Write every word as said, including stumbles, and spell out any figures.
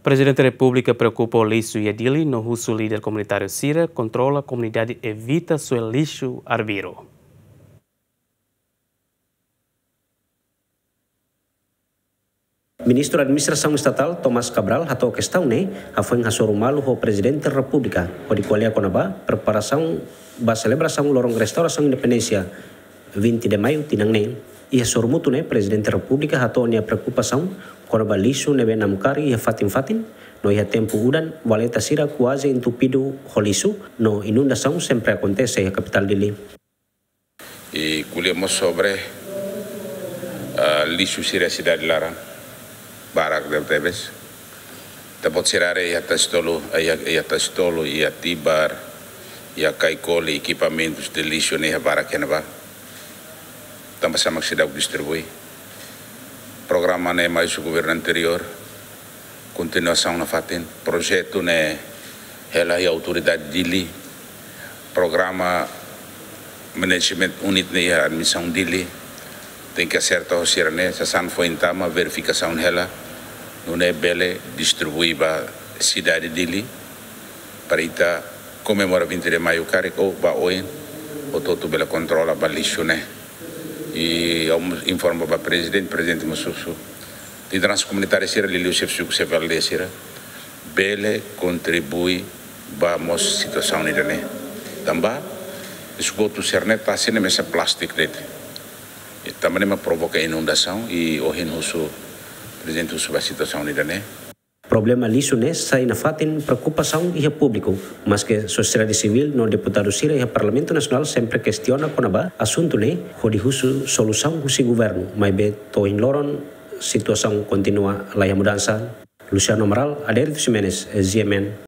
Prezidente Repúblika preokupa ho lixu iha Dili no husu líder komunitáriu sira kontrola komunidade evita soe lixu arbiru. Ministru Administrasaun Estatál Tomás Cabral hato'o kestaun ne'e hafoin hasoru malu ho Prezidente Repúblika hodi ko'alia kona-ba preparasaun ba selebrasaun loron restaurasaun independénsia vinte de Maio tinan ne'e. Iha sorumutu ne'e Prezidente Repúblika hato'o nia preokupasaun kona-ba lixu ne'ebé namkari iha fatin-fatin, no iha tempu udan valeta sira kuaze entupidu ho lixu, no inundasaun sempre akontese iha kapitál Dili. I ko'alia mós sobre, ah, lixu sira sidade laran, barak tebetebes. Ita-boot sira haree iha Tasi Tolu, iha, iha Tasi Tolu, iha Tibar, iha Caicoli, ekipamentus de lixu ne'e iha barak iha ne'ebá. Tanba sá mak seidauk distribui. Programa ne'e mai husi governu anteriór, kontinuasaun nafatin, projetu ne'e hela iha autoridade Dili, programa management unit ne'e iha administrasaun Dili, tenke aserta ho sira-ne'e, sasán foin tama, verifikasaun hela, nune'e bele distribui ba sidade Dili, para ita komemora vinte de Maio karik ou ba oin, hotu-hotu bele kontrola ba lixu ne'e. I ha'u mós informa ba Prezidente, Prezidente mós husu lideransa komunitária sira, liuliu xefe suku, xefe aldeia sira, bele kontribui ba mós situasaun ida-ne'e. Tanba esgotu sira-ne'e tasi ne'e mesak plástiku de'it. I tanba ne'e mak provoka inundasaun, i ohin husu, Prezidente husu ba situasaun ida-ne'e. Problema lixu ne'e sai nafatin preokupasaun iha públiku, maske sosiedade sivíl no deputadu sira iha Parlamentu Nasionál sempre kestiona kona-ba asuntu ne'e hodi husu solusaun husi governu, maibé to'o ohin loron situasaun kontinua la iha mudansa. Luciano Amaral, Adérito Ximenes, G M N.